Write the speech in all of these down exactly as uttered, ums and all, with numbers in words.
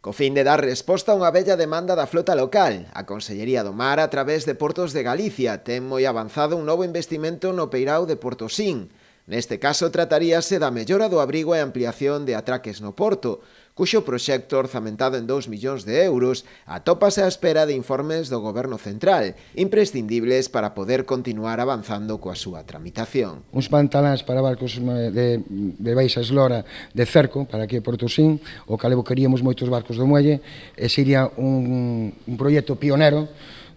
Co fin de dar resposta a unha bella demanda da flota local, a Consellería do Mar, a través de Portos de Galicia, ten moi avanzado un novo investimento no peirao de Portosín. Neste caso, trataríase da mellora do abrigo e ampliación de atraques no porto, cuxo proxecto orzamentado en dous millóns de euros atópase á espera de informes do Goberno Central, imprescindibles para poder continuar avanzando coa súa tramitación. Uns pantaláns para barcos de, de baixa eslora de cerco, para aquí a Portosín, o cal evocaríamos moitos barcos do muelle, e sería un, un proxecto pionero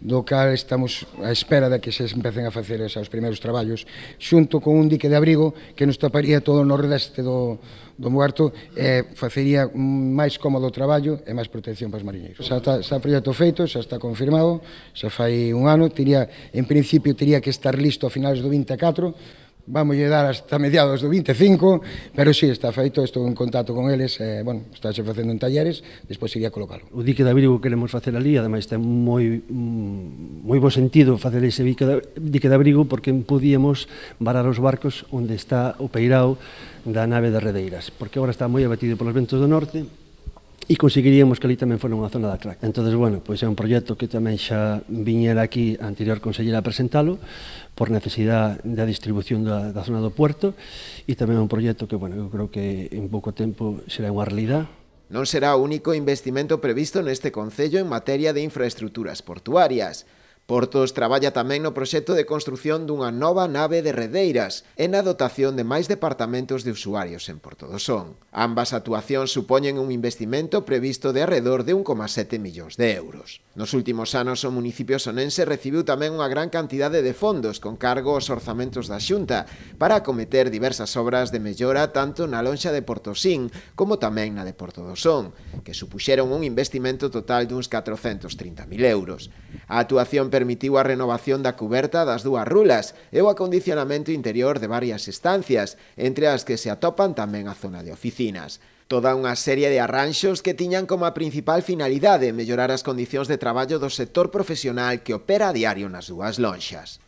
do cal estamos á espera de que se empecen a facer os primeiros traballos, xunto con un dique de abrigo que nos taparía todo o nordeste do, do Muerto e facería máis cómodo o traballo e máis protección para os mariñeiros. Xa está, está o proxecto feito, xa está confirmado, xa fai un ano, teria, en principio teria que estar listo a finales do vinte e catro, vamos a dar hasta mediados do vinte e cinco, pero si, sí, está feito, estou en contacto con eles, eh, bueno, estáse facendo en talleres, despois iría colocalo. O dique de abrigo que queremos facer ali, ademais ten moi moi bo sentido facer ese dique de abrigo porque podíamos varar os barcos onde está o peirao da nave de Redeiras, porque agora está moi abatido polos ventos do norte e conseguiríamos que ali tamén fora unha zona de atraque. Entón, bueno, pois é un proxecto que tamén xa viñera aquí a anterior consellera a presentalo por necesidade da distribución da, da zona do puerto e tamén é un proxecto que, bueno, eu creo que en pouco tempo será unha realidade. Non será o único investimento previsto neste concello en materia de infraestructuras portuarias. Portos traballa tamén no proxecto de construción dunha nova nave de Redeiras e na dotación de máis departamentos de usuarios en Porto do Son. Ambas actuacións supoñen un investimento previsto de arredor de un coma sete millóns de euros. Nos últimos anos o municipio sonense recibiu tamén unha gran cantidade de fondos con cargo aos orzamentos da Xunta para acometer diversas obras de mellora tanto na lonxa de Portosín como tamén na de Porto do Son, que supuxeron un investimento total duns catrocentos trinta mil euros. A actuación permitiu a renovación da cuberta das dúas rulas e o acondicionamento interior de varias estancias, entre as que se atopan tamén a zona de oficinas. Toda unha serie de arranxos que tiñan como a principal finalidade mellorar as condicións de traballo do sector profesional que opera a diario nas dúas lonxas.